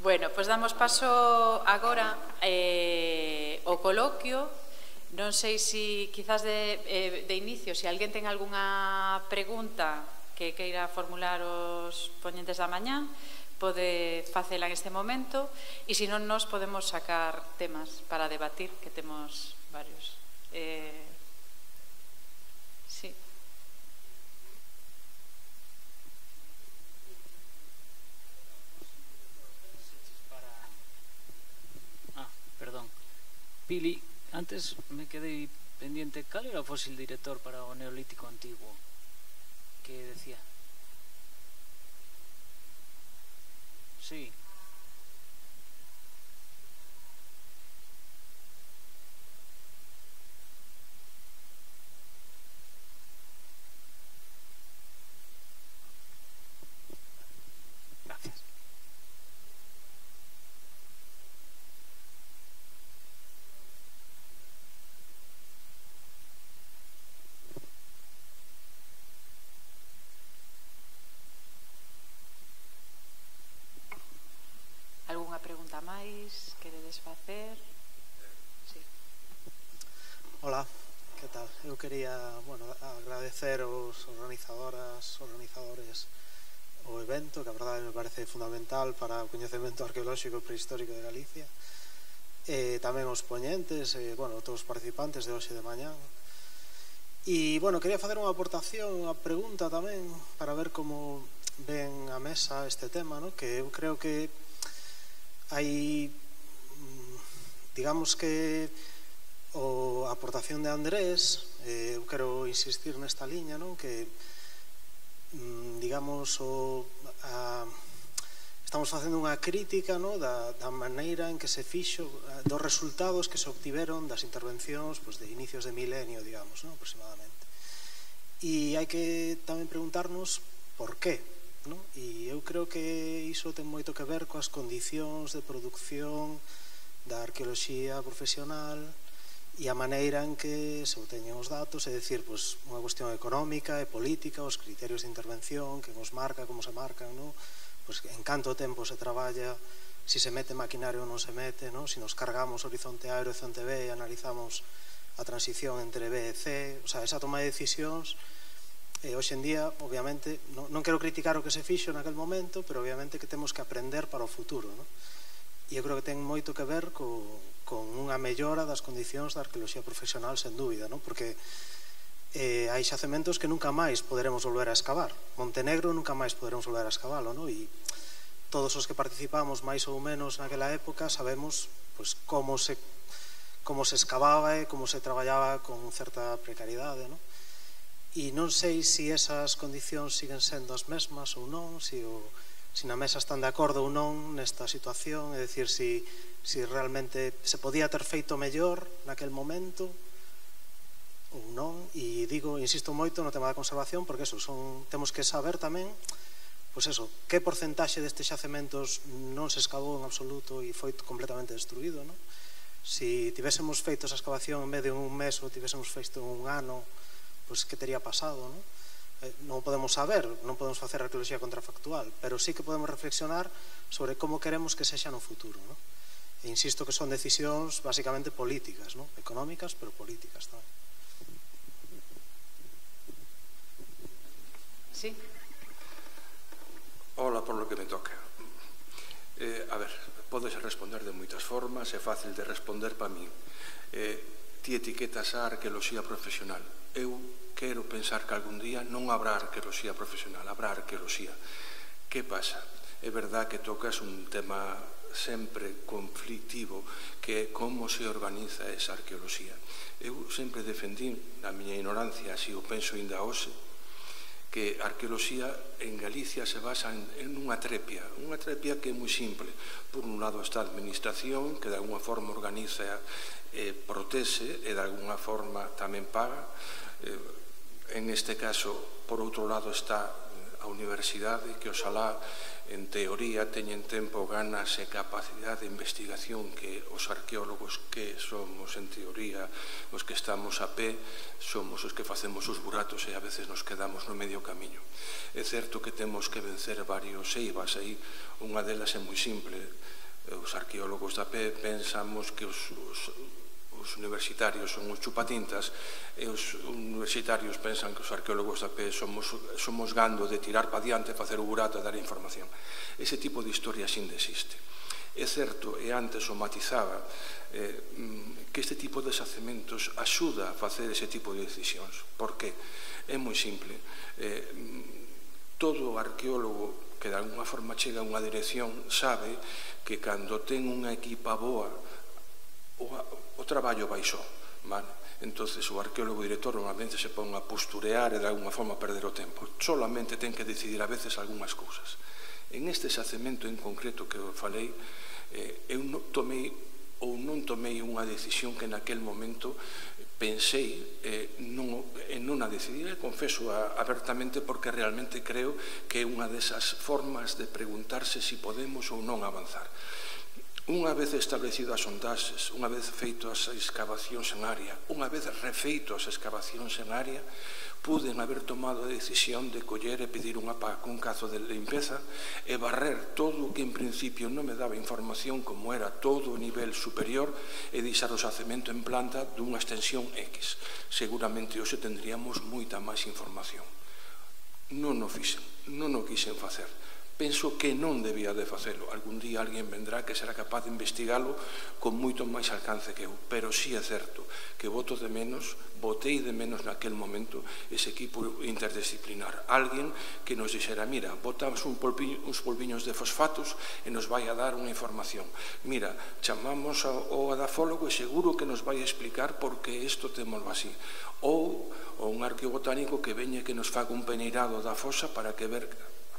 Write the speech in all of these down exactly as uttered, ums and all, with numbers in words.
Bueno, pois damos paso agora ao coloquio. Non sei se, quizás de inicio, se alguén ten algunha pregunta que queira formular os poñentes da mañá, pode facela en este momento, e se non, nos podemos sacar temas para debatir, que temos varios. Sí. Ah, perdón. Pili, antes me quedei pendiente, cal era o fósil director para o Neolítico Antiguo? Que decía? Sí. Gracias. Algúnha pregunta máis? Queredes facer? Sí. Hola, que tal? Eu quería, bueno, agradecer aos organizadoras, organizadores o evento, que a verdade me parece fundamental para o coñecemento arqueolóxico e prehistórico de Galicia, e tamén os poñentes, e, bueno, todos os participantes de hoxe de mañá. E, bueno, quería facer unha aportación, unha pregunta tamén, para ver como ven a mesa este tema, no? Que eu creo que hai, digamos que a aportación de Andrés, eu quero insistir nesta liña, que digamos estamos facendo unha crítica da maneira en que se fixo, dos resultados que se obtiveron das intervencións de inicios de milenio, digamos, aproximadamente. E hai que tamén preguntarnos por qué. E eu creo que iso ten moito que ver coas condicións de produción da arqueoloxía profesional e a maneira en que se obteñen os datos, é dicir, unha cuestión económica e política, os criterios de intervención, que nos marca, como se marcan, en canto tempo se traballa, se se mete maquinario ou non se mete, se nos cargamos horizonte A e horizonte B e analizamos a transición entre B e C, o sea, esa toma de decisións. Hoxe en día, obviamente, non quero criticar o que se fixo naquel momento, pero obviamente que temos que aprender para o futuro. E eu creo que ten moito que ver con unha mellora das condicións da arqueoloxía profesional, sen dúbida, porque hai xacementos que nunca máis poderemos volver a escavar. Montenegro nunca máis poderemos volver a escavalo, e todos os que participamos máis ou menos naquela época sabemos como se escavaba e como se traballaba con certa precariedade, non? E non sei se esas condicións siguen sendo as mesmas ou non, se na mesa están de acordo ou non nesta situación, é dicir, se realmente se podía ter feito mellor naquel momento ou non. E digo, insisto moito no tema da conservación, porque temos que saber tamén que porcentaxe destes xacementos non se escavou en absoluto e foi completamente destruído. Se tivésemos feito esa excavación en vez de un mes ou tivésemos feito un ano, pois que tería pasado, non? Non podemos saber, non podemos facer arqueoloxía contrafactual, pero sí que podemos reflexionar sobre como queremos que sexa no futuro, non? E insisto que son decisións basicamente políticas, non? Económicas, pero políticas tamén. Sí. Ola, por lo que me toca. A ver, podes responder de moitas formas, é fácil de responder para min. Ti etiquetas a arqueoloxía profesional. Eu quero pensar que algún día non habrá arqueoloxía profesional, habrá arqueoloxía. Que pasa? É verdad que tocas un tema sempre conflictivo, que é como se organiza esa arqueoloxía. Eu sempre defendín, na miña ignorancia, así o penso ainda hoxe, que a arqueoloxía en Galicia se basa en unha trepia, unha trepia que é moi simple. Por un lado está a administración, que de alguna forma organiza e protese e de alguna forma tamén paga. En este caso, por outro lado, está a universidade, que oxalá en teoría teñen tempo, ganas e capacidade de investigación que os arqueólogos que somos en teoría os que estamos a pé somos os que facemos os buratos e a veces nos quedamos no medio camiño. É certo que temos que vencer varios eivas aí, unha delas é moi simple. Os arqueólogos da pé pensamos que os, os os universitarios son os chupatintas e os universitarios pensan que os arqueólogos da P somos, somos gando de tirar pa diante, facer o burato e dar información. Ese tipo de historia sin existe. É certo, e antes o matizaba, eh, que este tipo de xacementos axuda a facer ese tipo de decisións. Por que? É moi simple. Eh, todo arqueólogo que de alguna forma chega a unha dirección sabe que cando ten unha equipa boa o, o traballo baixou, vale? Entonces o arqueólogo director normalmente se pon a posturear e de alguna forma a perder o tempo. Solamente ten que decidir a veces algunhas cousas. En este xacemento en concreto que eu falei, eh, eu non tomei ou non tomei unha decisión que naquel momento pensei eh, non, e non a decidir, confeso a, abertamente, porque realmente creo que é unha desas formas de preguntarse se si podemos ou non avanzar. Unha vez establecido as sondaxes, unha vez feito as excavacións en área, unha vez refeito as excavacións en área, puden haber tomado a decisión de coller e pedir unha pa cun cazo de limpeza e barrer todo o que en principio non me daba información como era todo o nivel superior e deixar o xacemento en planta dunha extensión X. Seguramente hoxe tendríamos moita máis información. Non o fixen, non o quixen facer. Penso que non debía de facelo. Algún día alguén vendrá que será capaz de investigalo con moito máis alcance que eu. Pero sí é certo que voto de menos, votei de menos naquel momento ese equipo interdisciplinar. Alguén que nos dixera, mira, botamos un polpiño, uns polviños de fosfatos e nos vai a dar unha información. Mira, chamamos ao adafólogo e seguro que nos vai a explicar por que isto temoslo así. Ou, ou un arqueobotánico que veñe que nos faga un peneirado da fosa para que ver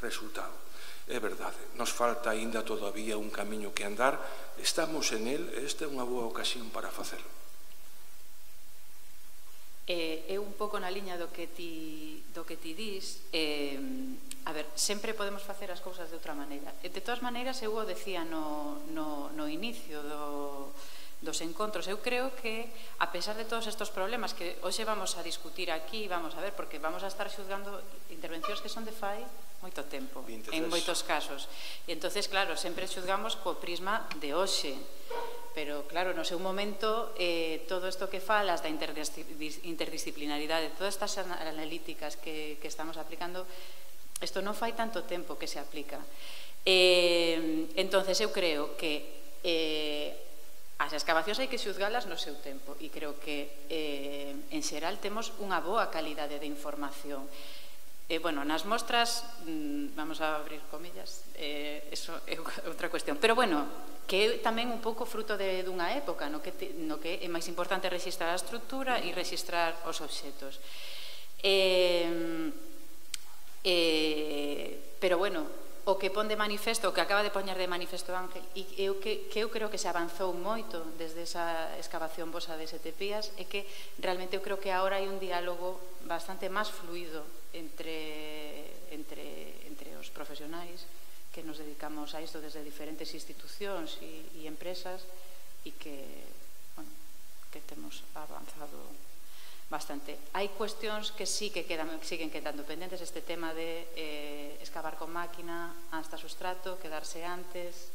resultado. É verdade, nos falta aínda todavía un camiño que andar, estamos en el, esta é unha boa ocasión para facelo. É un pouco na liña do que ti, do que ti dis, eh, a ver, sempre podemos facer as cousas de outra maneira. De todas maneiras, eu o decía no, no, no inicio do, dos encontros, eu creo que, a pesar de todos estes problemas que hoxe vamos a discutir aquí, vamos a ver, porque vamos a estar xuzgando intervencións que son de fai moito tempo, en moitos casos. E entonces, claro, sempre xuzgamos co prisma de hoxe. Pero, claro, no seu momento, eh, todo isto que falas da interdisciplinaridade, todas estas analíticas que, que estamos aplicando, isto non fai tanto tempo que se aplica. Eh, entonces, eu creo que eh, as excavacións hai que xuzgalas no seu tempo e creo que, eh, en xeral, temos unha boa calidade de información. Eh, bueno, nas mostras, mmm, vamos a abrir comillas, eh, eso é outra cuestión. Pero, bueno, que é tamén un pouco fruto de, dunha época no que, te, no que é máis importante registrar a estructura e registrar os obxetos. Eh, eh, pero, bueno, o que pon de manifesto, o que acaba de poñer de manifesto Ángel, e eu que, que eu creo que se avanzou moito desde esa excavación vosa de Sete Pías, é que realmente eu creo que agora hai un diálogo bastante máis fluido entre, entre, entre os profesionais que nos dedicamos a isto desde diferentes institucións e, e empresas e que, bueno, que temos avanzado bastante. Hai cuestións que sí que quedan, siguen quedando pendentes, este tema de eh, excavar con máquina hasta sustrato, quedarse antes,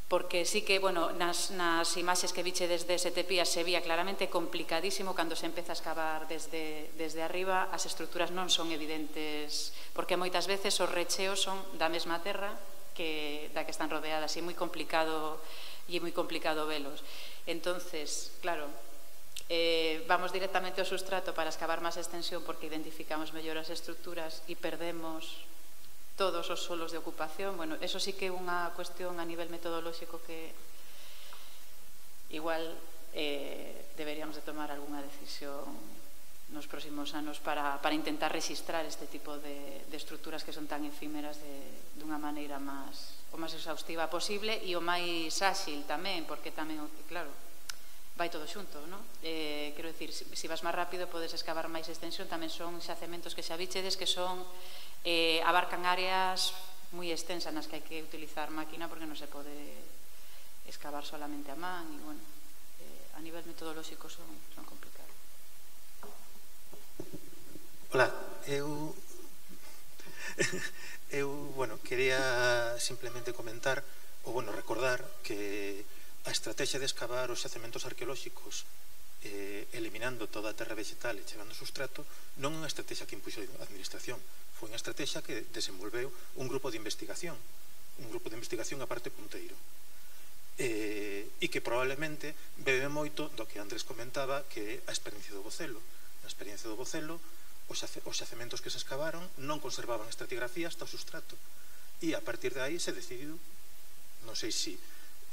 porque sí que, bueno, nas, nas imaxes que viche desde Sete Pías se vía claramente complicadísimo cando se empeza a excavar desde, desde arriba, as estruturas non son evidentes, porque moitas veces os recheos son da mesma terra que, da que están rodeadas, e é moi complicado, e é moi complicado velos. Entonces, claro, eh, vamos directamente ao sustrato para excavar máis extensión porque identificamos mellor as estruturas e perdemos todos os solos de ocupación. Bueno, eso sí que é unha cuestión a nivel metodolóxico que igual eh, deberíamos de tomar algunha decisión nos próximos anos para, para intentar registrar este tipo de, de estruturas que son tan efímeras de, de unha maneira máis, o máis exhaustiva posible e o máis áxil tamén, porque tamén, claro, vai todo xunto, non? Eh, quero dicir, se si vas máis rápido podes excavar máis extensión, tamén son xacementos que xa bichedes que son eh, abarcan áreas moi extensa nas que hai que utilizar máquina porque non se pode excavar solamente a man e, bueno, eh, a nivel metodolóxico son, son complicados. Hola, eu eu, bueno, quería simplemente comentar ou, bueno, recordar que a estrategia de excavar os xacementos arqueolóxicos eh, eliminando toda a terra vegetal e chegando ao sustrato non é unha estrategia que impuxo a administración, foi unha estrategia que desenvolveu un grupo de investigación, un grupo de investigación a parte punteiro, eh, e que probablemente bebe moito do que Andrés comentaba, que é a experiencia do Bocelo. Na experiencia do Bocelo, os, xace, os xacementos que se excavaron non conservaban estratigrafía hasta o sustrato, e a partir de aí se decidiu, non sei se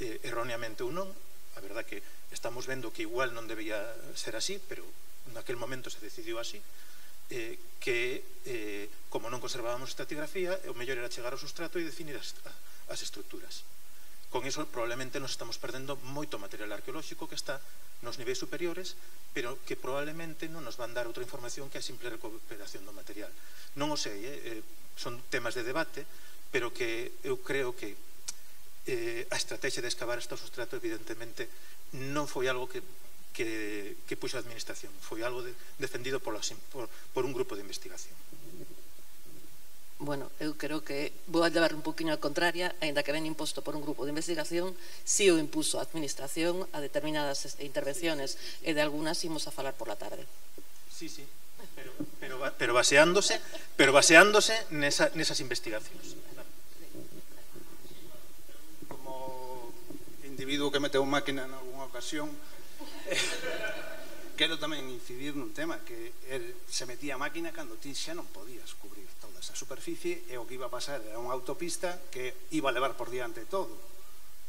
eh, erróneamente ou non, a verdad que estamos vendo que igual non debía ser así, pero naquel momento se decidiu así, eh, que eh, como non conservábamos estratigrafía, o mellor era chegar ao sustrato e definir as, as estruturas. Con iso probablemente nos estamos perdendo moito material arqueolóxico que está nos niveis superiores, pero que probablemente non nos van dar outra información que a simple recuperación do material. Non o sei, eh, son temas de debate, pero que eu creo que eh, a estrategia de excavar este sustrato evidentemente non foi algo que, que, que puxo a administración, foi algo de, defendido por, por, por un grupo de investigación. Bueno, eu creo que vou a levar un poquinho a contraria, aínda que ven imposto por un grupo de investigación, si o impuso a administración a determinadas intervenciones e de algunas imos a falar por la tarde. Sí, sí, pero, pero, pero baseándose pero baseándose nesa, nesas investigacións. Como individuo que meteu máquina en algunha ocasión, quero tamén incidir nun tema que se metía a máquina cando ti xa non podías cubrir toda esa superficie e o que iba a pasar era unha autopista que iba a levar por diante todo.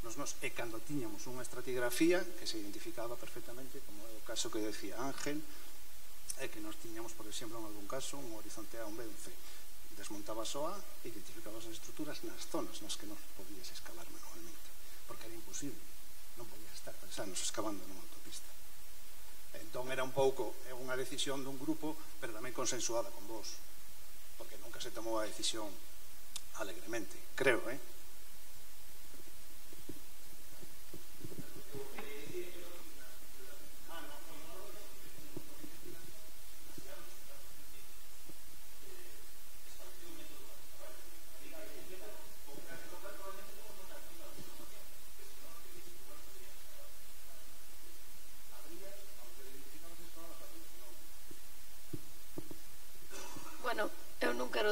Nos, nos, e cando tiñamos unha estratigrafía que se identificaba perfectamente, como é o caso que decía Ángel, e que nos tiñamos, por exemplo, en algún caso, un horizonte A, un B, un C. Desmontabas o A e identificabas as estruturas nas zonas nas que non podías excavar manualmente, porque era imposible, non podías estar pensando excavando nunha autopista. Entón era un pouco unha decisión dun grupo, pero tamén consensuada con vos, porque nunca se tomou a decisión alegremente, creo, eh?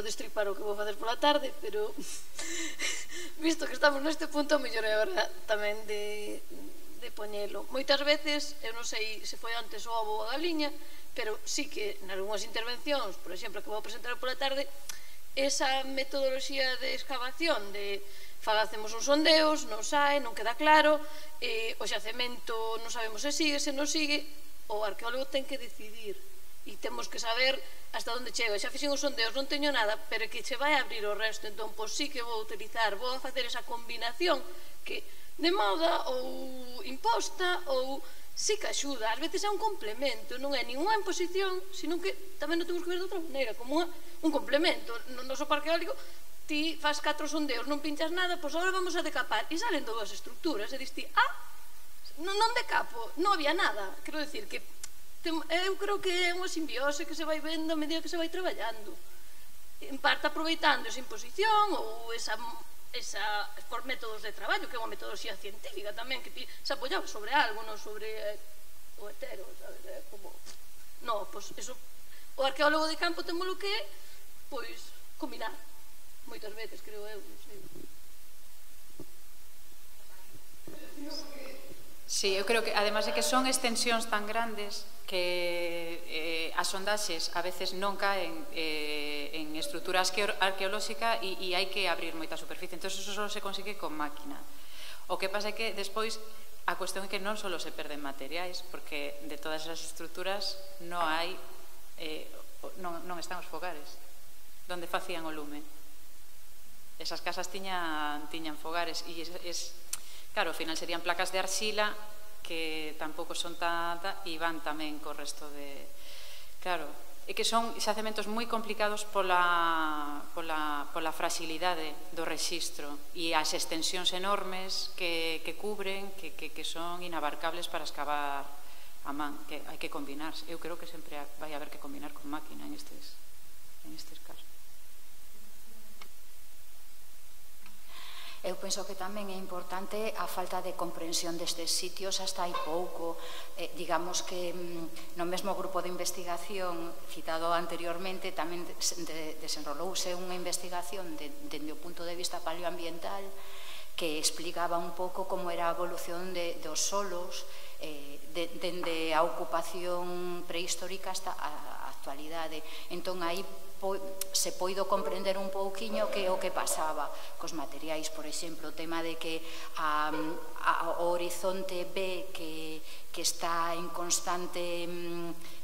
destripar o que vou facer pola tarde, pero visto que estamos neste punto, mellor é hora tamén de, de poñelo. Moitas veces, eu non sei se foi antes o ovo ou a galiña, pero sí que en algunhas intervencións, por exemplo, que vou presentar pola tarde, esa metodoloxía de excavación de facemos uns sondeos, non sae, non queda claro, eh, o xacemento non sabemos se sigue, se non sigue, o arqueólogo ten que decidir e temos que saber hasta onde chega. Xa fixen os sondeos, non teño nada, pero que che vai a abrir o resto, entón, pois sí que vou utilizar, vou a facer esa combinación que de moda ou imposta ou sí que axuda, ás veces é un complemento, non é ninguna imposición, sino que tamén non temos que ver de outra maneira, como unha, un complemento. No noso parque eólico ti faz catro sondeos, non pinchas nada, pois agora vamos a decapar, e salen dúas estructuras, e dis ti, ah, non decapo, non había nada. Quero decir que eu creo que é unha simbiose que se vai vendo a medida que se vai traballando, en parte aproveitando esa imposición ou esa, esa por métodos de traballo, que é unha metodoloxía científica tamén, que ti se apoyaba sobre algo, non sobre eh, o hetero, sabes? É como, non, pois eso, o arqueólogo de campo temos lo que é, pois, combinar, moitas veces, creo eu, non sei. Sí, eu creo que, además de que son extensións tan grandes que eh, as sondaxes a veces non caen eh, en estrutura arqueolóxica e, e hai que abrir moita superficie, entón eso só se consigue con máquina. O que pasa é que despois a cuestión é que non só se perden materiais, porque de todas esas estruturas non hai eh, non, non están os fogares donde facían o lume. Esas casas tiñan, tiñan fogares e es, es claro, ao final serían placas de arxila que tampouco son tanta e van tamén co resto de... Claro, é que son xacementos moi complicados pola, pola, pola fragilidade do rexistro e as extensións enormes que, que cubren, que, que, que son inabarcables para excavar a man, que hai que combinar. Eu creo que sempre vai haber que combinar con máquina en estes, en estes casos. Eu penso que tamén é importante a falta de comprensión destes sitios hasta hai pouco. Eh, digamos que mm, no mesmo grupo de investigación citado anteriormente tamén de, desenrolouse unha investigación de, dende o punto de vista paleoambiental que explicaba un pouco como era a evolución de, dos solos eh, de, dende a ocupación prehistórica hasta a actualidade. Entón aí po, se poido comprender un pouquiño que o que pasaba cos materiais, por exemplo, o tema de que a, a, o horizonte B que, que está en constante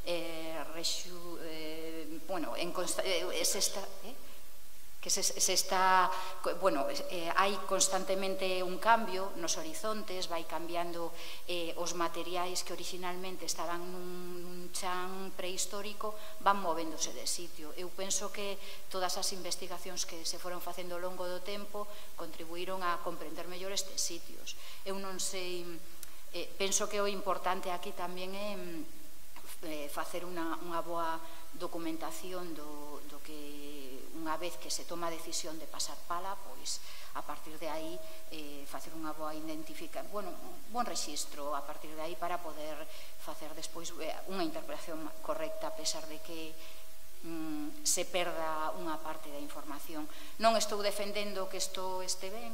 eh, rexu, eh, bueno, en consta, eh, se está... Eh? que se, se está, bueno, eh, hai constantemente un cambio nos horizontes, vai cambiando eh, os materiais que originalmente estaban nun chan prehistórico, van movéndose de sitio. Eu penso que todas as investigacións que se foron facendo ao longo do tempo contribuíron a comprender mellor estes sitios. Eu non sei, eh, penso que o importante aquí tamén é eh, facer unha, unha boa documentación do, do que unha vez que se toma a decisión de pasar pala, pois a partir de aí eh, facer unha boa identificación, bueno, un bon rexistro a partir de aí para poder facer despois unha interpretación correcta a pesar de que mm, se perda unha parte da información. Non estou defendendo que isto este ben,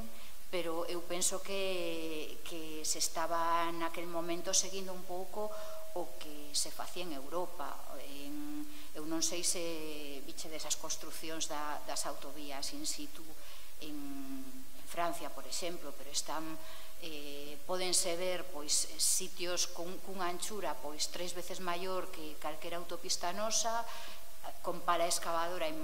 pero eu penso que, que se estaba naquel momento seguindo un pouco o que se facía en Europa. En, eu non sei se biche desas construcións da, das autovías in situ en, en Francia, por exemplo, pero están eh, podense ver pois sitios con, cunha anchura pois tres veces maior que calquera autopista nosa, con pala excavadora en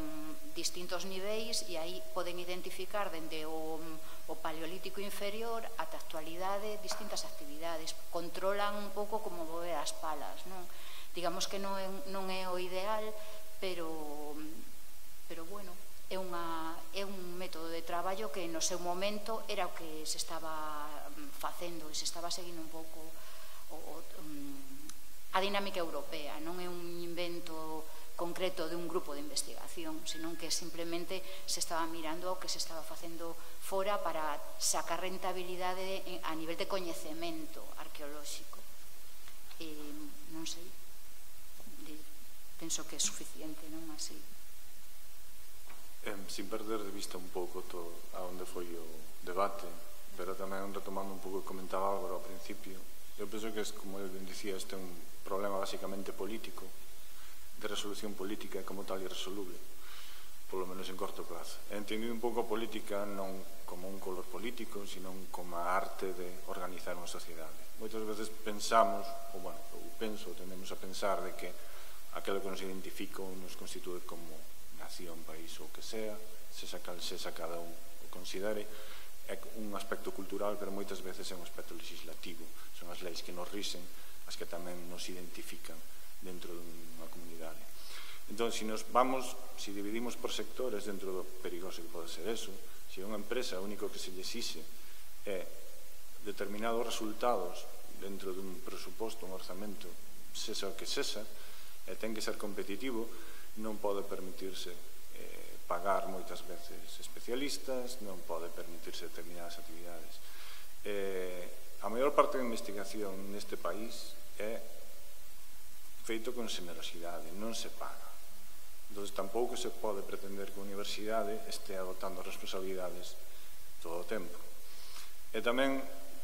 distintos niveis, e aí poden identificar dende o, o paleolítico inferior ata a actualidade distintas actividades. Controlan un pouco como mover as palas, non? Digamos que non é, non é o ideal, pero, pero bueno, é, unha, é un método de traballo que no seu momento era o que se estaba facendo e se estaba seguindo un pouco o, o, a dinámica europea. Non é un invento concreto de un grupo de investigación, senón que simplemente se estaba mirando o que se estaba facendo fora para sacar rentabilidade a nivel de coñecemento arqueolóxico. E, non sei, penso que é suficiente, non así. Eh, sin perder de vista un pouco a onde foi o debate, pero tamén retomando un pouco o que comentaba Álvaro ao principio, eu penso que, como eu dicía, este é un problema basicamente político, de resolución política, e como tal irresoluble, polo menos en corto plazo. He entendido un pouco a política non como un color político, sino como a arte de organizar unha sociedade. Moitas veces pensamos, ou, bueno, ou penso, tendemos a pensar de que aquilo que nos identifica ou nos constitúe como nación, país ou que sea, se saca, se saca cada un o considere, é un aspecto cultural, pero moitas veces é un aspecto legislativo. Son as leis que nos rixen, as que tamén nos identifican dentro dunha comunidade. Entón, se nos vamos, se dividimos por sectores dentro do perigoso que pode ser eso, se unha empresa o único que se lle exixe é determinados resultados dentro dun presuposto, un orzamento, sesa o que sesa, e ten que ser competitivo, non pode permitirse eh, pagar moitas veces especialistas, non pode permitirse determinadas actividades. Eh, a maior parte da investigación neste país é feito con xenerosidade, non se paga. Entón, tampouco se pode pretender que a universidade este adoptando responsabilidades todo o tempo. E tamén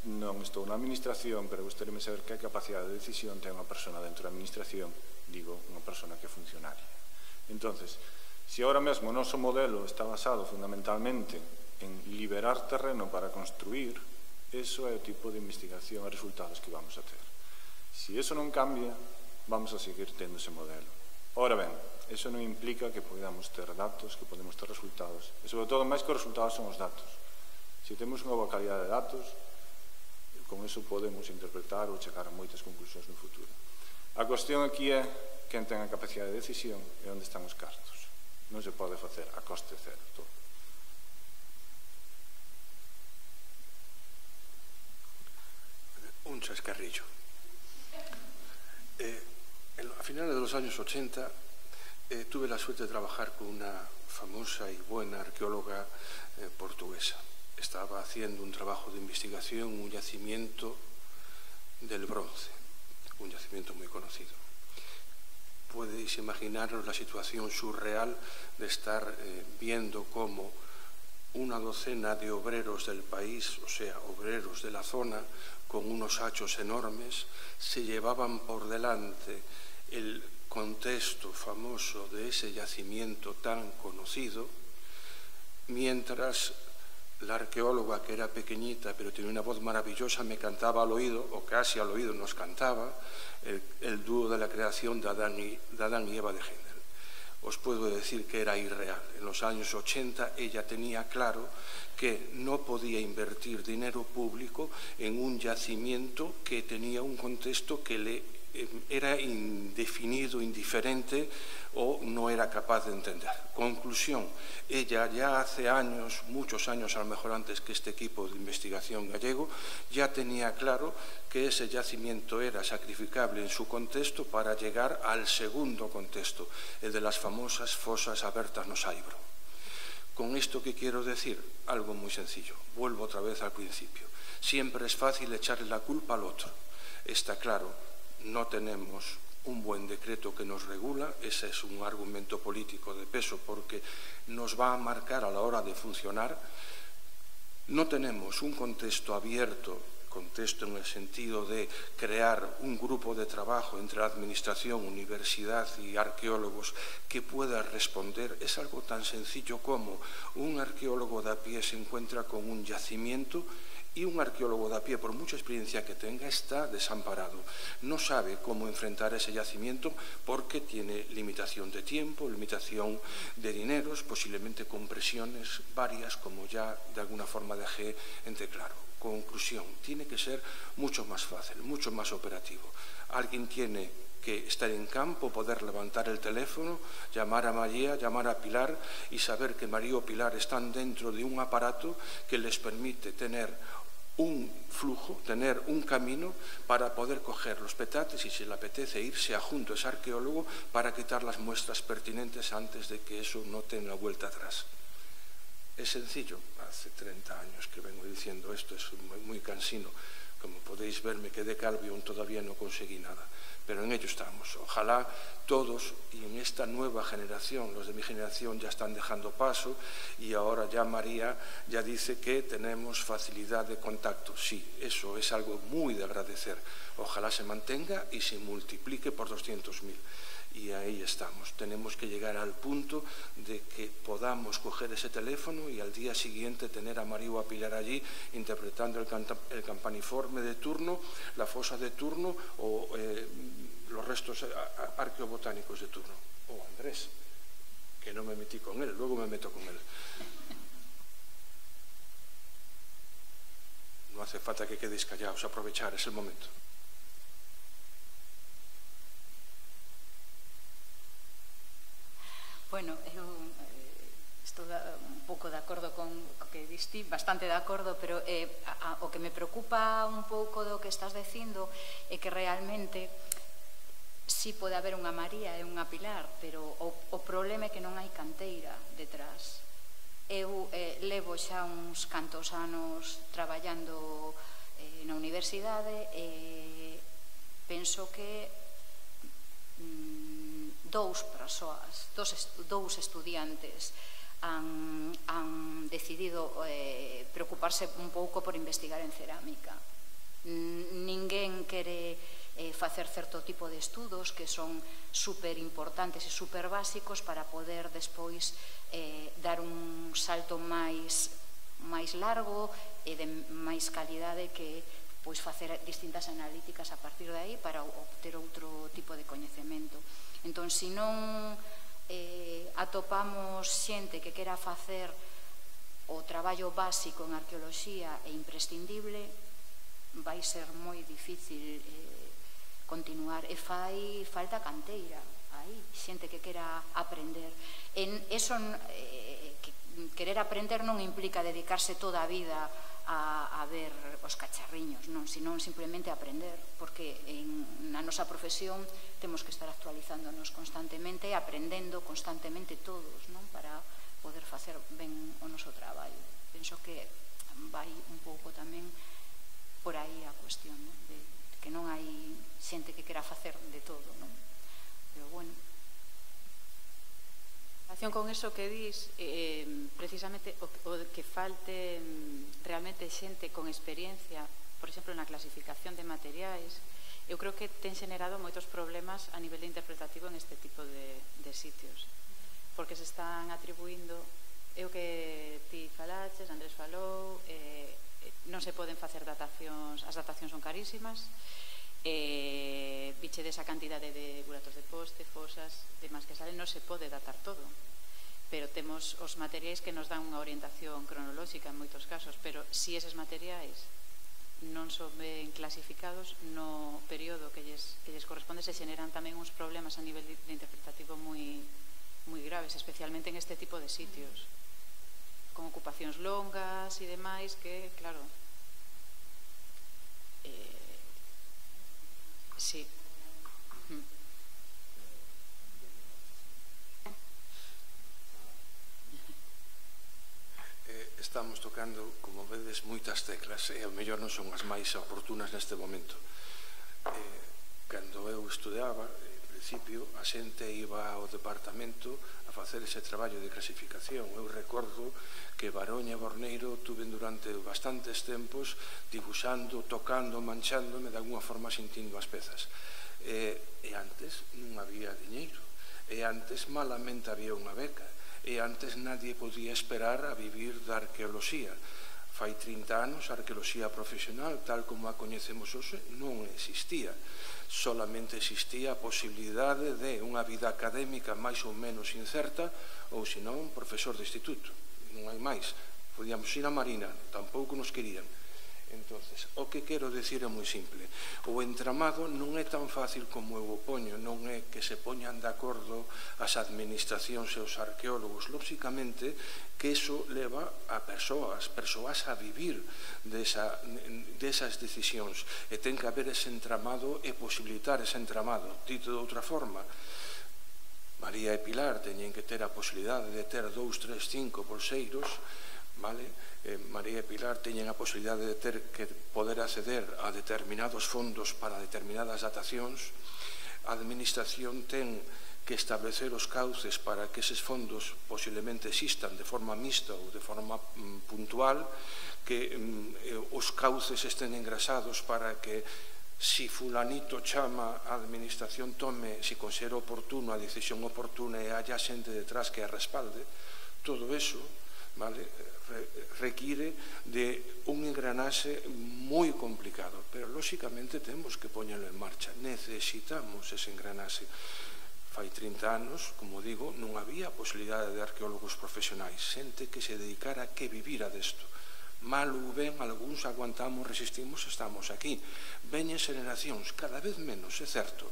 non estou na administración, pero gustaríame saber que capacidade de decisión ten unha persona dentro da administración, digo, unha persona que é funcionaria. Entonces, se ahora mesmo o noso modelo está basado fundamentalmente en liberar terreno para construir, eso é o tipo de investigación e resultados que vamos a ter. Se eso non cambia, vamos a seguir tendo ese modelo. Ora ben, eso non implica que podamos ter datos, que podemos ter resultados, e sobre todo, máis que os resultados son os datos. Se temos unha boa calidad de datos, con eso podemos interpretar ou chegar a moitas conclusións no futuro. A cuestión aquí é quen ten a capacidade de decisión e onde están os cartos. Non se pode facer a coste cero todo. Un chascarrillo. Eh, a finales de los años ochenta eh, tuve la suerte de trabajar con una famosa y buena arqueóloga eh, portuguesa. Estaba haciendo un trabajo de investigación, un yacimiento del bronce, un yacimiento muy conocido. Podéis imaginaros la situación surreal de estar eh, viendo cómo una docena de obreros del país, o sea, obreros de la zona, con unos hachos enormes, se llevaban por delante el contexto famoso de ese yacimiento tan conocido, mientras la arqueóloga, que era pequeñita pero tenía una voz maravillosa, me cantaba al oído, o casi al oído nos cantaba, el, el dúo de la creación de Adán, y, de Adán y Eva de Händel. Os puedo decir que era irreal. En los años ochenta ella tenía claro que no podía invertir dinero público en un yacimiento que tenía un contexto que le era indefinido, indiferente o no era capaz de entender. Conclusión, ella ya hace años, muchos años a lo mejor antes que este equipo de investigación gallego, ya tenía claro que ese yacimiento era sacrificable en su contexto para llegar al segundo contexto, el de las famosas fosas abertas no Saibro. Con esto, ¿qué quiero decir? Algo muy sencillo. Vuelvo otra vez al principio. Siempre es fácil echarle la culpa al otro. Está claro, no tenemos un buen decreto que nos regula, ese es un argumento político de peso porque nos va a marcar a la hora de funcionar. No tenemos un contexto abierto, contexto en el sentido de crear un grupo de trabajo entre la administración, universidad y arqueólogos que pueda responder. Es algo tan sencillo como un arqueólogo de a pie se encuentra con un yacimiento y un arqueólogo de a pie, por mucha experiencia que tenga, está desamparado. No sabe cómo enfrentar ese yacimiento porque tiene limitación de tiempo, limitación de dineros, posiblemente con presiones varias, como ya de alguna forma dejé entre claro. Conclusión, tiene que ser mucho más fácil, mucho más operativo. Alguien tiene que estar en campo, poder levantar el teléfono, llamar a María, llamar a Pilar y saber que María o Pilar están dentro de un aparato que les permite tener un flujo, tener un camino para poder coger los petates y, si le apetece, irse a junto a ese arqueólogo para quitar las muestras pertinentes antes de que eso no tenga vuelta atrás. Es sencillo, hace treinta años que vengo diciendo esto, es muy, muy cansino. Como podéis ver, me quedé calvo y aún todavía no conseguí nada. Pero en ello estamos. Ojalá todos, y en esta nueva generación, los de mi generación ya están dejando paso, y ahora ya María ya dice que tenemos facilidad de contacto. Sí, eso es algo muy de agradecer. Ojalá se mantenga y se multiplique por doscientos mil. Y ahí estamos. Tenemos que llegar al punto de que podamos coger ese teléfono y al día siguiente tener a María o a Pilar allí interpretando el, el campaniforme de turno, la fosa de turno o eh, los restos arqueobotánicos de turno. O oh, Andrés, que no me metí con él, luego me meto con él. No hace falta que quedéis callados, aprovechar, es el momento. Bueno, eu eh, estou da, un pouco de acordo con o que diste, bastante de acordo, pero eh, a, a, o que me preocupa un pouco do que estás dicindo é que realmente si pode haber unha María e unha Pilar, pero o, o problema é que non hai canteira detrás. Eu eh, levo xa uns cantos anos traballando eh, na universidade e penso que mm, dous persoas, dous, dous estudiantes han, han decidido eh, preocuparse un pouco por investigar en cerámica. Ninguén quere eh, facer certo tipo de estudos que son super importantes e super básicos para poder despois eh, dar un salto máis, máis largo e de máis calidade que pois facer distintas analíticas a partir de aí para obter outro tipo de coñecemento. Entón, se non eh, atopamos xente que quera facer o traballo básico en arqueoloxía e imprescindible, vai ser moi difícil eh, continuar, e fai falta canteira aí, xente que quera aprender. En eso, eh, que, querer aprender non implica dedicarse toda a vida a, a ver os cacharriños, non, senón simplemente aprender, porque en, na nosa profesión temos que estar actualizándonos constantemente, aprendendo constantemente todos, non, para poder facer ben o noso traballo. Penso que vai un pouco tamén por aí a cuestión, non? De que non hai xente que quera facer de todo, non? Pero bueno. En relación con eso que dis, eh, precisamente o, o que falte realmente xente con experiencia, por exemplo, na clasificación de materiais, eu creo que ten xenerado moitos problemas a nivel interpretativo en este tipo de, de sitios, porque se están atribuindo, é o que ti falaches, Andrés falou, eh, non se poden facer datacións, as datacións son carísimas, eh, biche desa cantidade de buratos de poste, fosas, demás que salen, non se pode datar todo, pero temos os materiais que nos dan unha orientación cronolóxica en moitos casos, pero si eses materiais non son ben clasificados no período que lles, que lles corresponde, se xeneran tamén uns problemas a nivel de interpretativo moi, moi graves, especialmente en este tipo de sitios, con ocupacións longas e demais que, claro, eh, sí. Mm. Estamos tocando, como vedes, moitas teclas e ao mellor non son as máis oportunas neste momento. Eh, cando eu estudiaba, en principio, a xente iba ao departamento a facer ese traballo de clasificación. Eu recordo que Baroña e Borneiro tuven durante bastantes tempos dibuixando, tocando, manchándome, de alguna forma sintindo as pezas. E, e antes non había diñeiro, e antes malamente había unha beca, e antes nadie podía esperar a vivir da arqueoloxía. Fai trinta anos a arqueoloxía profesional, tal como a coñecemos hoxe, non existía. Solamente existía a posibilidade de unha vida académica máis ou menos incerta, ou senón profesor de instituto. Non hai máis. Podíamos ir a Marina, tampouco nos querían. Entonces, o que quero dicir é moi simple. O entramado non é tan fácil como eu o poño, non é que se poñan de acordo as administracións e os arqueólogos. Lóxicamente, que iso leva a persoas, persoas a vivir desa, desas decisións. E ten que haber ese entramado e posibilitar ese entramado. Dito de outra forma, María e Pilar teñen que ter a posibilidade de ter dous, tres, cinco bolseiros, vale? Eh, María e Pilar teñen a posibilidade de ter que poder acceder a determinados fondos para determinadas datacións. A administración ten que establecer os cauces para que eses fondos posiblemente existan de forma mixta ou de forma mm, puntual, que mm, os cauces estén engrasados para que si fulanito chama a administración tome, si considera oportuno a decisión oportuna e haya xente detrás que a respalde. Todo eso, vale, require de un engranaxe moi complicado, pero lóxicamente temos que poñelo en marcha. Necesitamos ese engranaxe. Fai trinta anos, como digo, non había posibilidade de arqueólogos profesionais, xente que se dedicara a que vivira desto. Mal ou ben, algúns aguantamos, resistimos, estamos aquí. Veñen xeracións, cada vez menos, é certo.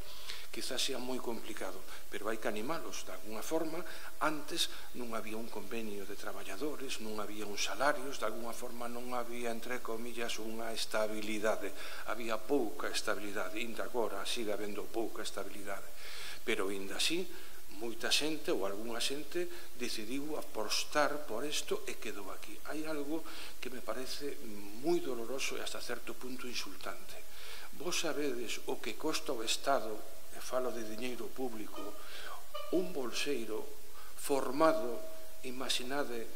Quizás sea moi complicado, pero hai que animalos de alguna forma. Antes non había un convenio de traballadores, non había uns salarios, de alguna forma non había, entre comillas, unha estabilidade. Había pouca estabilidade, ainda agora sigue habendo pouca estabilidade, pero ainda así moita xente ou algunha xente decidiu apostar por isto e quedou aquí. Hai algo que me parece moi doloroso e hasta certo punto insultante. Vos sabedes o que costa o Estado, e falo de diñeiro público, un bolseiro formado, imaginade,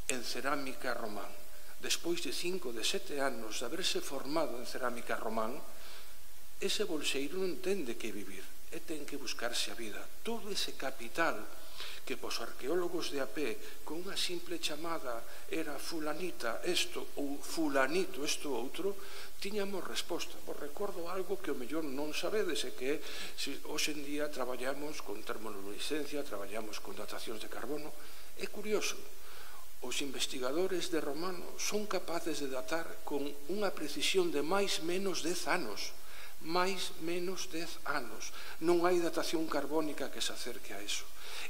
en cerámica román. Despois de cinco, de sete anos de haberse formado en cerámica román, ese bolseiro non ten de que vivir, e ten que buscarse a vida. Todo ese capital que pos arqueólogos de a pé, con unha simple chamada, era fulanita isto ou fulanito isto outro, tiñamos resposta. Vos recordo algo que o mellor non sabedes, e que se hoxe en día traballamos con termoluminiscencia, traballamos con datacións de carbono. É curioso, os investigadores de Romano son capaces de datar con unha precisión de máis menos dez anos, máis menos dez anos. Non hai datación carbónica que se acerque a eso.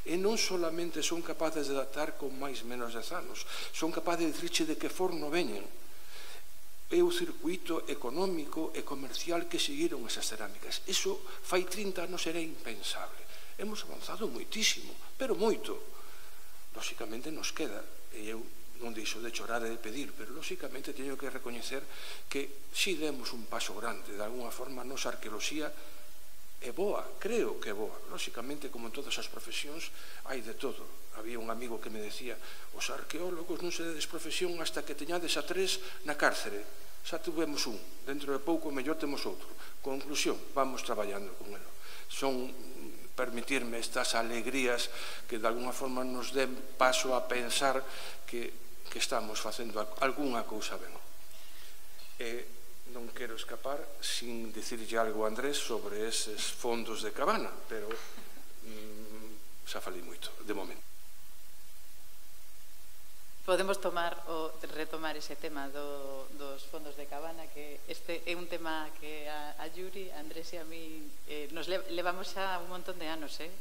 E non solamente son capaces de datar con máis menos dez anos, son capaces de dicirche de que forno veñen. É o circuito económico e comercial que seguiron esas cerámicas. Iso fai trinta anos era impensable. Hemos avanzado moitísimo, pero moito. Lóxicamente nos queda, e eu non deixo de chorar e de pedir, pero lóxicamente teño que recoñecer que si demos un paso grande. De alguna forma, a nosa arqueoloxía é boa, creo que é boa. Lóxicamente, como en todas as profesións, hai de todo. Había un amigo que me decía: os arqueólogos non se dedes profesión hasta que teñades a tres na cárcere. Xa tuvemos un, dentro de pouco mellor temos outro. Conclusión, vamos traballando con ele. Son, permitirme, estas alegrías que de alguna forma nos den paso a pensar que que estamos facendo algunha cousa ben. E non quero escapar sin dicirlle algo a Andrés sobre eses fondos de Cabana, pero mm, xa falei moito, de momento. Podemos tomar o retomar ese tema do, dos fondos de Cabana, que este é un tema que a, a Yuri, a Andrés e a mí eh, nos le, levamos xa un montón de anos, eh?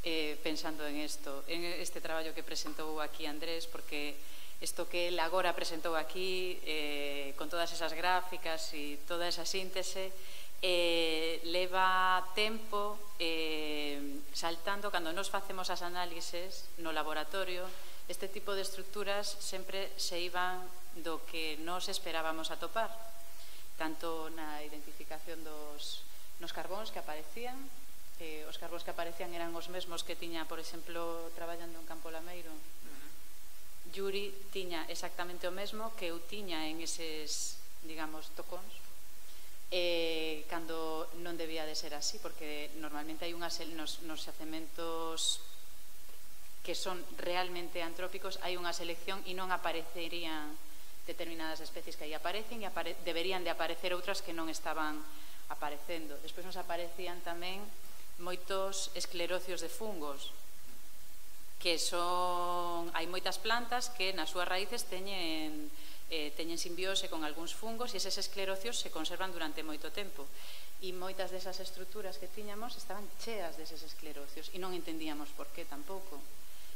Eh, pensando en isto, en este traballo que presentou aquí Andrés, porque isto que ele agora presentou aquí eh, con todas esas gráficas e toda esa síntese eh, leva tempo eh, saltando. Cando nos facemos as análises no laboratorio, este tipo de estructuras sempre se iban do que nos esperábamos atopar, tanto na identificación dos nos carbóns que aparecían. Eh, os carbóns que aparecían eran os mesmos que tiña, por exemplo, traballando en Campo Lameiro. Yuri tiña exactamente o mesmo que eu tiña en eses, digamos, tocóns, eh, cando non debía de ser así, porque normalmente hai unhas, nos, nos xacementos que son realmente antrópicos, hai unha selección e non aparecerían determinadas especies que aí aparecen, e apare deberían de aparecer outras que non estaban aparecendo. Despois nos aparecían tamén moitos esclerocios de fungos, que son, hai moitas plantas que nas súas raíces teñen, eh, teñen simbiose con algúns fungos, e eses esclerocios se conservan durante moito tempo, e moitas desas estruturas que tiñamos estaban cheas deses esclerocios e non entendíamos por qué tampouco.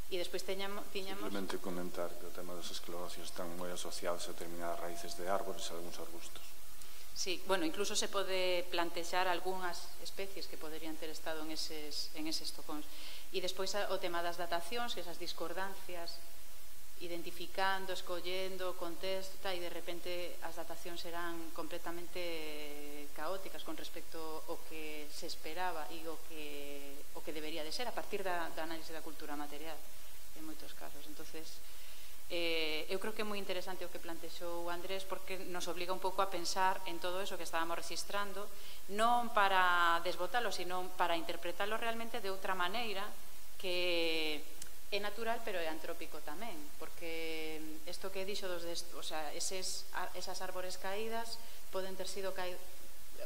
E despois teñamos, tiñamos... Simplemente comentar que o tema dos esclerocios están moi asociados a determinadas raíces de árbores e algúns arbustos. Sí, bueno, incluso se pode plantexar algunhas especies que poderían ter estado en eses, en eses tocóns. E despois o tema das datacións, esas discordancias, identificando, escollendo, contexto, e de repente as datacións eran completamente caóticas con respecto ao que se esperaba e o que, o que debería de ser a partir da, da análise da cultura material en moitos casos. Entonces, eh, eu creo que é moi interesante o que plantexou Andrés, porque nos obliga un pouco a pensar en todo eso que estábamos registrando, non para desbotalo, sino para interpretarlo realmente de outra maneira, que é natural, pero é antrópico tamén, porque isto que dixo dos de, o sea, eses, esas árbores caídas poden ter sido caídas,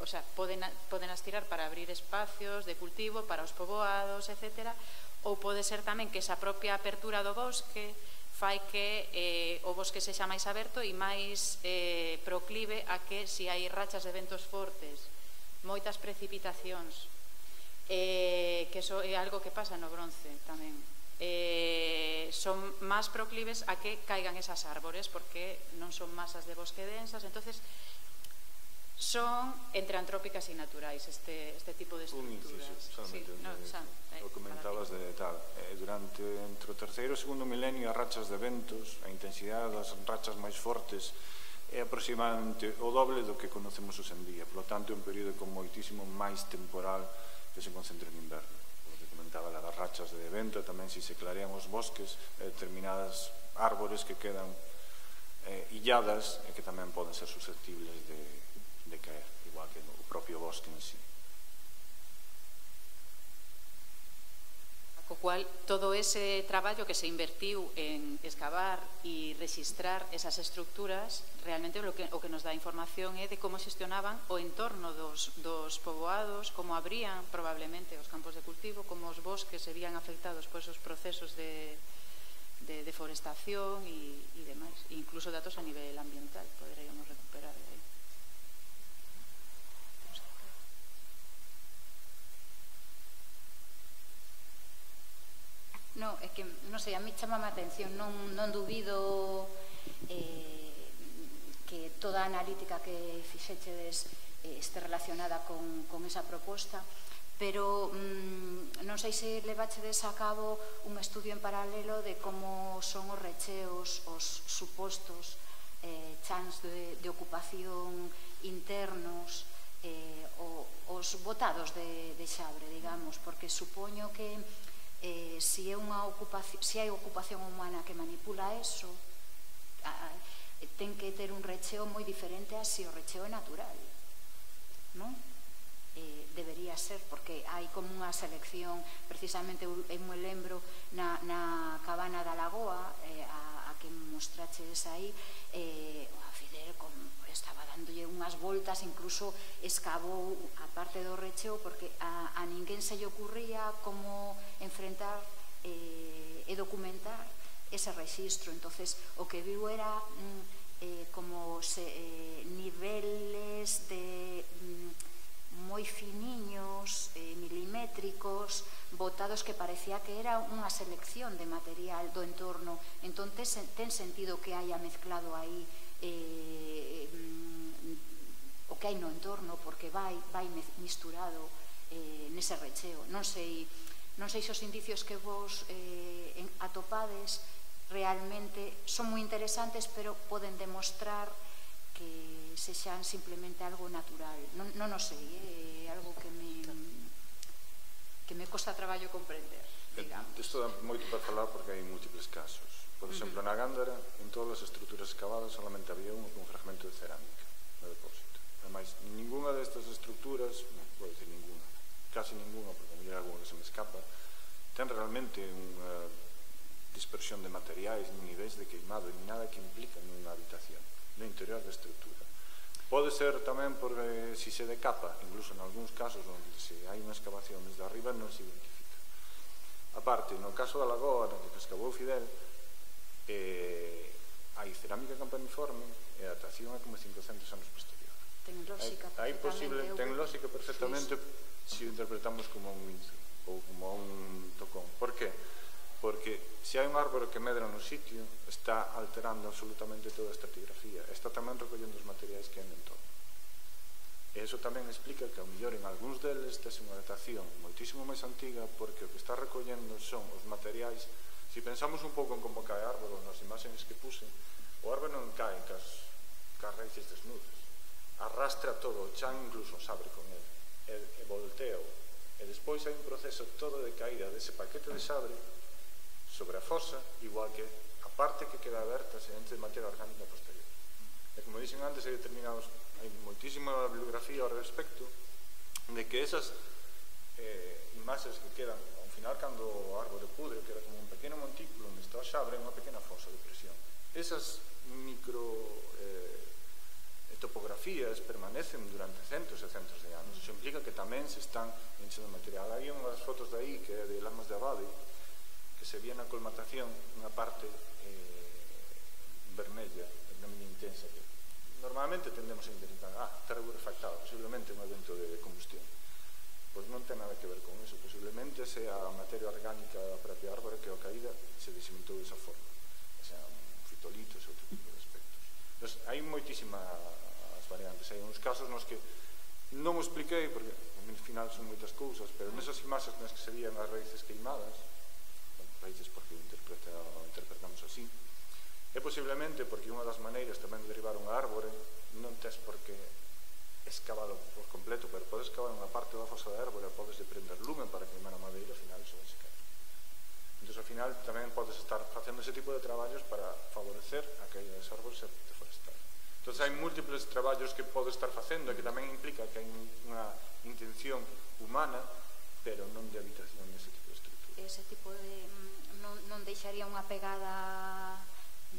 o sea, poden, poden astirar para abrir espacios de cultivo para os poboados, etcétera, ou pode ser tamén que esa propia apertura do bosque fai que eh, o bosque sexa máis aberto e máis eh, proclive a que, se hai rachas de ventos fortes, moitas precipitacións, eh, que eso é algo que pasa no bronce tamén, eh, son máis proclives a que caigan esas árbores, porque non son masas de bosque densas. Entonces son entre antrópicas e naturais este, este tipo de estructuras. Un inciso, solamente sí, un no, xa, eh, o comentabas de tal, eh, durante entre o terceiro e o segundo milenio as rachas de ventos, a intensidade das rachas máis fortes é aproximadamente o doble do que conocemos hoxe en día, por lo tanto é un período con moitísimo máis temporal que se concentra en inverno. O que comentaba das rachas de vento, tamén se se clarean os bosques, eh, determinadas árbores que quedan eh, illadas e que tamén poden ser susceptibles de de caer, igual que o propio bosque en sí. Co cual, todo ese traballo que se invertiu en excavar e registrar esas estructuras, realmente o que, o que nos dá información é de como xestionaban o entorno dos, dos poboados, como abrían probablemente os campos de cultivo, como os bosques se vían afectados por esos procesos de, de deforestación e, e demais. E incluso datos a nivel ambiental poderíamos recuperar de aí. No, é que, non sei, a mí chamame a atención, non, non dubido eh, que toda a analítica que fixechedes eh, este relacionada con, con esa proposta, pero mm, non sei se levachedes a cabo un estudio en paralelo de como son os recheos, os supostos eh, chans de, de ocupación internos, eh, o, os botados de, de Xabre, digamos, porque supoño que eh, si, é unha ocupación, si hai ocupación humana que manipula eso, a, ten que ter un recheo moi diferente a si o recheo é natural, non? Eh, debería ser, porque hai como unha selección, precisamente eu me lembro na, na cabana da Lagoa, eh, a, a que mostraches aí, eh, a Fidel con, estaba dándolle unhas voltas, incluso escavou a parte do recheo, porque a, a ninguén se lle ocurría como enfrentar eh, e documentar ese rexistro. Entonces o que viu era mm, eh, como se, eh, niveles de mm, moi finiños, eh, milimétricos, botados, que parecía que era unha selección de material do entorno. Entón ten sentido que haya mezclado aí eh, mm, o que hai no entorno, porque vai, vai misturado eh, nese recheo. Non sei, non sei se os indicios que vos eh, atopades realmente son moi interesantes, pero poden demostrar que sexan simplemente algo natural. Non, non o sei, é algo que me que me costa traballo comprender, digamos. Isto dá moito para falar porque hai múltiples casos. Por exemplo, na Gándara, en todas as estruturas excavadas solamente había un, un fragmento de cerámica no depósito. Ademais, ninguna destas estruturas, non vou dicir ninguna, casi ninguna, porque a mí algo que se me escapa, ten realmente unha dispersión de materiais, nin niveis de queimado, nin nada que implica nunha habitación no interior da estrutura. Pode ser tamén porque si se decapa, incluso en algúns casos onde se hai unha excavación desde arriba non se identifica. A parte, no caso da Lagoa, no que excavou Fidel, eh, hai cerámica campaniforme e a datación é como cincocentos anos posterior. Ten lógica hai posible, ten lógica perfectamente se o interpretamos como un lince ou como un tocón. Por que? Porque se hai un árbore que medra no sitio, está alterando absolutamente toda a estratigrafía, está tamén recollendo os materiais que hai no entorno. E iso tamén explica que ao mellor en algúns deles tes unha datación moitísimo máis antiga, porque o que está recollendo son os materiais. Se pensamos un pouco en como cae árbore nas imaxes que puse, o árbore non cae cas, cas raíces desnudas, arrastra todo o chan, incluso sabre con ele, e, e volteo, e despois hai un proceso todo de caída dese paquete de sabre sobre a fosa, igual que a parte que queda aberta se entra de materia orgánica posterior. E como dixen antes, hai determinados, hai moitísima bibliografía ao respecto de que esas eh, imaxes que quedan ao final cando o árbore pudre, que era como un pequeno montículo onde está o xabre, unha pequena fosa de presión. Esas micro eh, topografías permanecen durante centos e centos de anos. Iso implica que tamén se están enchendo material. Hai unhas fotos de aí que é de Lamas de Abade, que se vía na colmatación unha parte eh, vermella, vermella intensa, que normalmente tendemos a identificar, ah, está refractado, posiblemente un evento de combustión. Pois non ten nada que ver con eso, posiblemente sea a materia orgánica da propia árbore que ao caída se desimentou desa forma, sean fitolitos e outro tipo de aspectos. Entón, hai moitísimas variantes, hai uns casos nos que non o expliquei porque ao final son moitas cousas, pero nesas imaxes nas que se vían as raíces queimadas, bueno, raíces porque o interpreta, interpretamos así, é posiblemente porque unha das maneiras tamén de derivar un árbore non tes por que escavalo por completo, pero podes escavar unha parte da fosa da árbore, podes de prender lumen para queimar a madeira, ao final iso vai se caer. Entón, ao final tamén podes estar facendo ese tipo de traballos para favorecer a caída dos árbores e deforestar. Entón, hai múltiples traballos que pode estar facendo e que tamén implica que hai unha intención humana, pero non de habitación nese tipo de estrutura. Ese tipo de... non, non deixaría unha pegada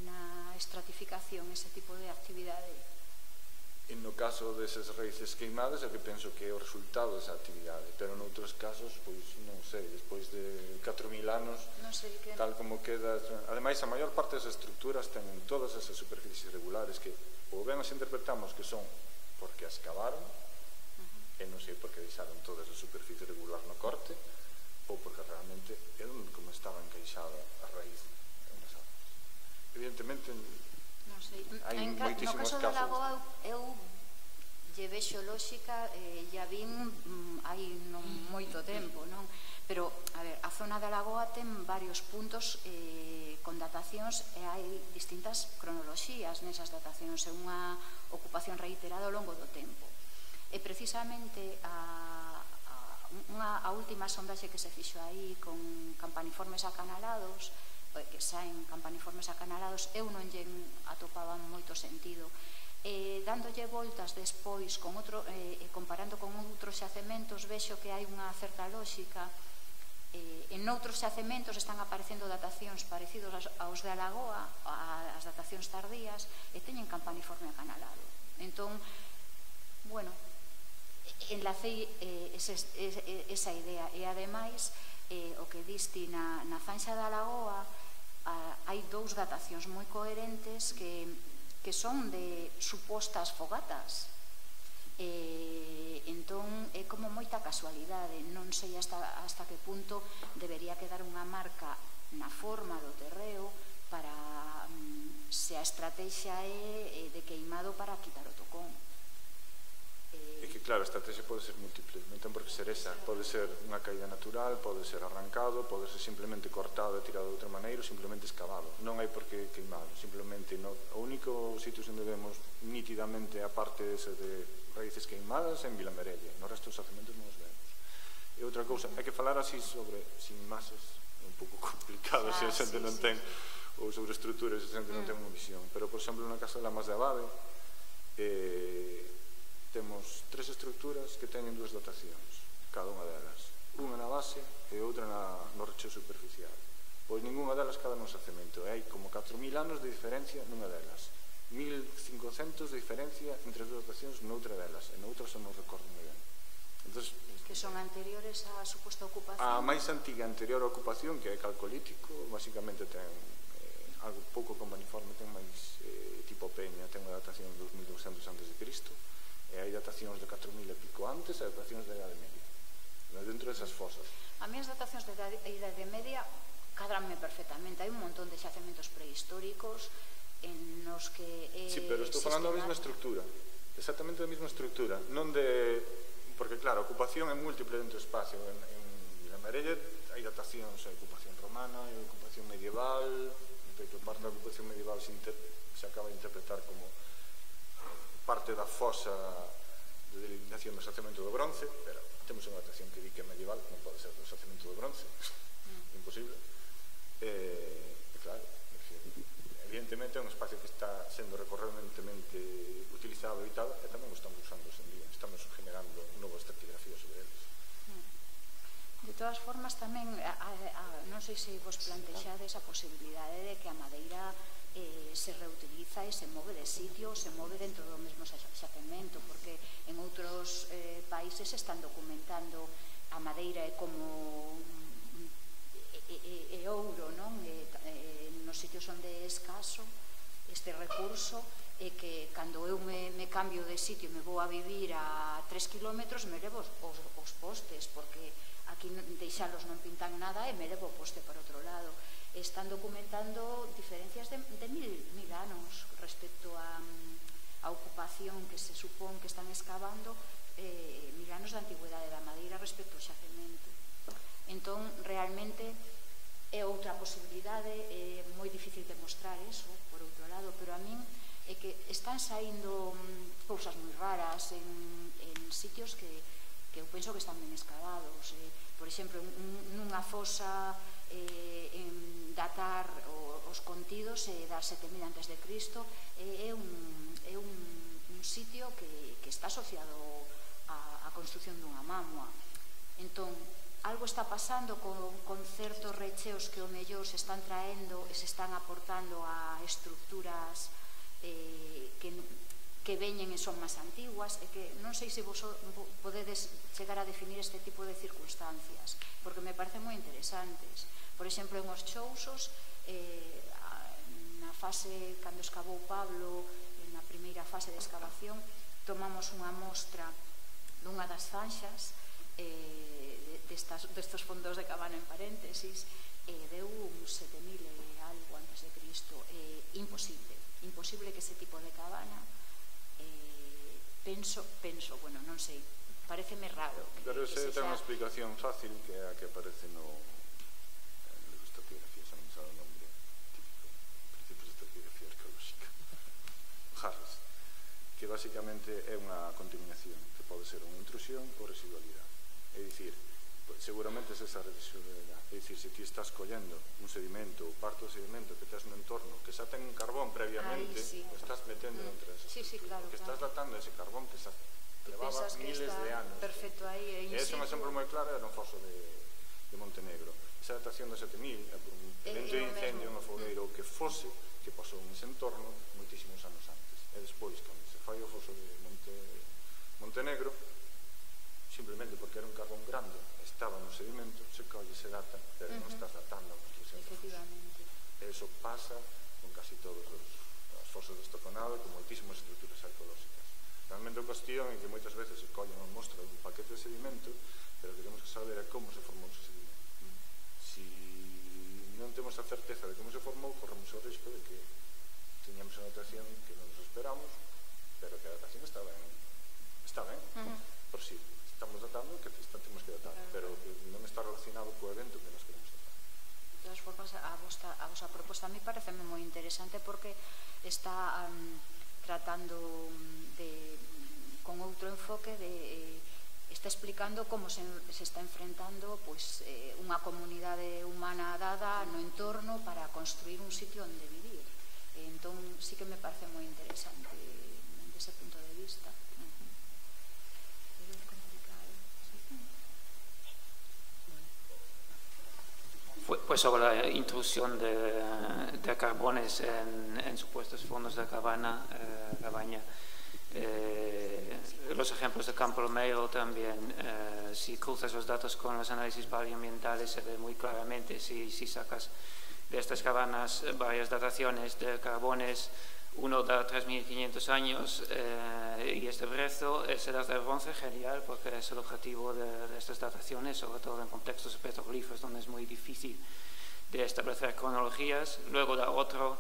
na estratificación, ese tipo de actividade? E no caso desas raíces queimadas é que penso que é o resultado desa actividade, pero noutros casos, pois non sei, despois de catro mil anos, non sei que... tal como queda... Ademais, a maior parte das estruturas ten todas esas superficies regulares que ou ben as interpretamos que son porque as cavaron, uh -huh. e non sei por que deixaron toda esa superficie regular no corte, ou porque realmente é onde como estaba encaixada a raíz das augas. Evidentemente, non sei. hai En ca- moitísimos no caso casos. da Lagoa, eu lle vexo lógica, eh, ya vin mm, hai non moito tempo, non? Pero, a ver, a zona da Lagoa ten varios puntos eh, con datacións e hai distintas cronoloxías nesas datacións, é unha ocupación reiterada ao longo do tempo. E precisamente a, a, unha, a última sondaxe que se fixo aí con campaniformes acanalados, que saen campaniformes acanalados, eu non lle atopaba moito sentido. Eh, dándolle voltas despois con outro, eh, comparando con outros xacementos, vexo que hai unha certa lógica. Eh, en outros xacementos están aparecendo datacións parecidos aos de Alagoa, as datacións tardías, e teñen campaniforme acanalado. Entón, bueno, enlacei eh, ese, esa idea, e ademais eh, o que diste na, na Zanxa da Lagoa, ah, hai dous datacións moi coherentes que, que son de supostas fogatas. Eh, entón é como moita casualidade, non sei hasta, hasta que punto debería quedar unha marca na forma do terreo para um, se a estrategia é de queimado para quitar o tocón. É que claro, a estrategia pode ser múltiple, non ten por que ser esa, pode ser unha caída natural, pode ser arrancado, pode ser simplemente cortado e tirado de outra maneira ou simplemente excavado, non hai por que queimado, simplemente no, o único sitio onde vemos nítidamente a parte ese de raíces queimadas en Vilamerelle, no resto dos xacementos non os vemos. E outra cousa, hai que falar así sobre, sin masas, é un pouco complicado se a xente non ten, ou sobre estruturas se a xente non ten unha visión, pero por exemplo na casa de Lamas de Abade eh, temos tres estruturas que teñen dúas dotacións, cada unha delas, unha na base e outra na, no recheo superficial. Pois ninguna delas cada nun xacemento, e hai como catro mil anos de diferencia nunha delas, mil cincocentos de diferencia entre as dúas dotacións noutra delas, e noutra só non recordo moi ben. Entonces, que son anteriores á suposta ocupación? A máis antiga anterior á ocupación, que é calcolítico, basicamente ten eh, algo pouco companiforme, ten máis eh, tipo Peña, ten unha datación de dos mil doscientos antes de Cristo, e hai datacións de catro mil e pico antes e datacións de Idade Media, dentro desas fosas. A mí as datacións de Idade Media cadranme perfectamente, hai un montón de xacementos prehistóricos en nos que eh, sí, pero estou falando da mesma estructura, exactamente da mesma estructura, non de... porque claro, a ocupación é múltiple dentro do espacio, en, en Vilamerelle hai datacións, hai ocupación romana, hai ocupación medieval, de que parte da ocupación medieval se, inter... se acaba de interpretar como parte da fosa de delimitación do xacemento do bronce, pero temos unha datación que di que é medieval, non pode ser do xacemento do bronce, mm. imposible. E, e claro, evidentemente é un espacio que está sendo recorrentemente utilizado e tal, e tamén o estamos usando hoxe en día, estamos generando novas estratigrafías sobre eles. De todas formas, tamén, a, a, non sei se vos plantexades a posibilidade de que a madeira eh, se reutiliza e se move de sitio, se move dentro do mesmo xacemento, porque en outros eh, países se están documentando a madeira é como e, e, e ouro, non? E, e, nos sitios onde é escaso este recurso, e que cando eu me, me cambio de sitio, me vou a vivir a tres kilómetros, me levo os, os, os postes, porque aquí deixalos non pintan nada e me levo o poste para outro lado. Están documentando diferencias de, de mil, mil anos respecto a, a ocupación que se supón que están excavando, eh, mil anos de antigüedade da madeira respecto ao xacemento. Entón, realmente é outra posibilidade, é moi difícil demostrar eso, por outro lado, pero a min é que están saindo cousas moi raras en, en sitios que, que eu penso que están ben excavados. Eh, por exemplo, nunha fosa eh, en datar os contidos e dar sete mil antes de Cristo é un, é un, un sitio que, que está asociado á, á construción dunha mamua. Entón, algo está pasando con, con certos recheos que o mellor se están traendo e se están aportando a estructuras eh, que, que veñen e son máis antiguas, e que non sei se vos podedes chegar a definir este tipo de circunstancias, porque me parecen moi interesantes. Por exemplo, en os Chousos, eh, na fase, cando excavou Pablo, na primeira fase de excavación, tomamos unha mostra dunha das zanxas eh, de, destes fondos de Cabana en paréntesis, deu uns sete mil e algo antes de Cristo. Imposible, imposible que ese tipo de cabana, penso, penso, bueno, non sei, pareceme raro. Pero ese ten unha explicación fácil que é a que aparece no libro de estratigrafía, xa non sabe o nombre típico, principios de estratigrafía arqueolóxica, Harris, que basicamente é unha contaminación que pode ser unha intrusión ou residualidade. É dicir, seguramente é esa residualidade. É dicir, se ti estás collendo un sedimento ou parte do sedimento que tens no entorno que xa ten un carbón previamente, o estás metendo entre esas estructuras, que estás datando ese carbón que xa levaba miles de anos. Perfecto, aí e ese é un exemplo moi claro, era un foso de Montenegro. Esa datación de sete mil é por un evento de incendio no fogueiro que fose que pasou nese entorno moitísimos anos antes. E despois, cando se fai o foso de Montenegro, simplemente porque era un carbón grande, estaba no sedimento, se colle, se data, pero non estás datando a construcción do foso. E iso pasa con casi todos os fosos de Estoconado e con moitísimas estructuras arqueolóxicas. Realmente a cuestión é que moitas veces se colle unha mostra dun paquete de sedimento, pero o que temos que saber é como se formou ese sedimento. Se non temos a certeza de como se formou, corremos o risco de que teñamos unha datación que non nos esperamos, pero que a datación está ben, está ben, por si estamos datando que temos que datar, pero que non está relacionado co evento que nos queremos datar. De todas formas, a vosa, a vosa proposta a mí pareceme moi interesante porque está um, tratando de, con outro enfoque de, eh, está explicando como se, se está enfrentando pues, eh, unha comunidade humana dada no entorno para construir un sitio onde vivir. E entón sí que me parece moi interesante desde ese punto de vista. Pues sobre la intrusión de, de carbones en, en supuestos fondos de cabana, eh, cabaña, eh, los ejemplos de Campo Romero también, eh, si cruzas los datos con los análisis paleoambientales se ve muy claramente, si, si sacas de estas cabanas varias dataciones de carbones, uno da tres mil quinientos años eh, y este brezo es edad del bronce, genial, porque es el objetivo de, de estas dataciones, sobre todo en contextos de petroglifos donde es muy difícil de establecer cronologías. Luego da otro,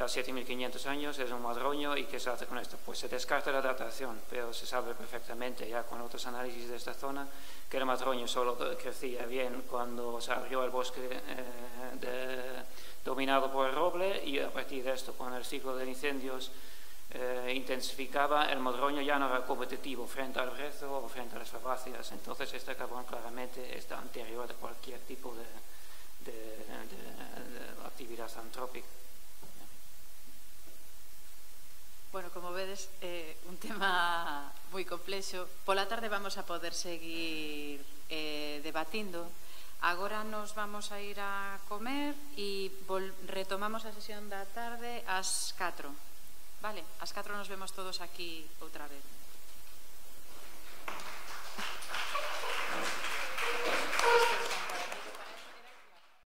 da siete mil quinientos años, es un madroño, y ¿qué se hace con esto? Pues se descarta la datación, pero se sabe perfectamente ya con otros análisis de esta zona que el madroño solo crecía bien cuando se abrió el bosque eh, de, dominado por el roble, y a partir de esto, con el ciclo de incendios eh, intensificaba, el madroño ya no era competitivo frente al brezo o frente a las fabáceas. Entonces este carbón claramente está anterior de cualquier tipo de, de, de, de actividad antrópica. Bueno, como vedes, eh, un tema moi complexo. Pola tarde vamos a poder seguir eh, debatindo. Agora nos vamos a ir a comer e retomamos a sesión da tarde ás catro. Vale, ás catro nos vemos todos aquí outra vez.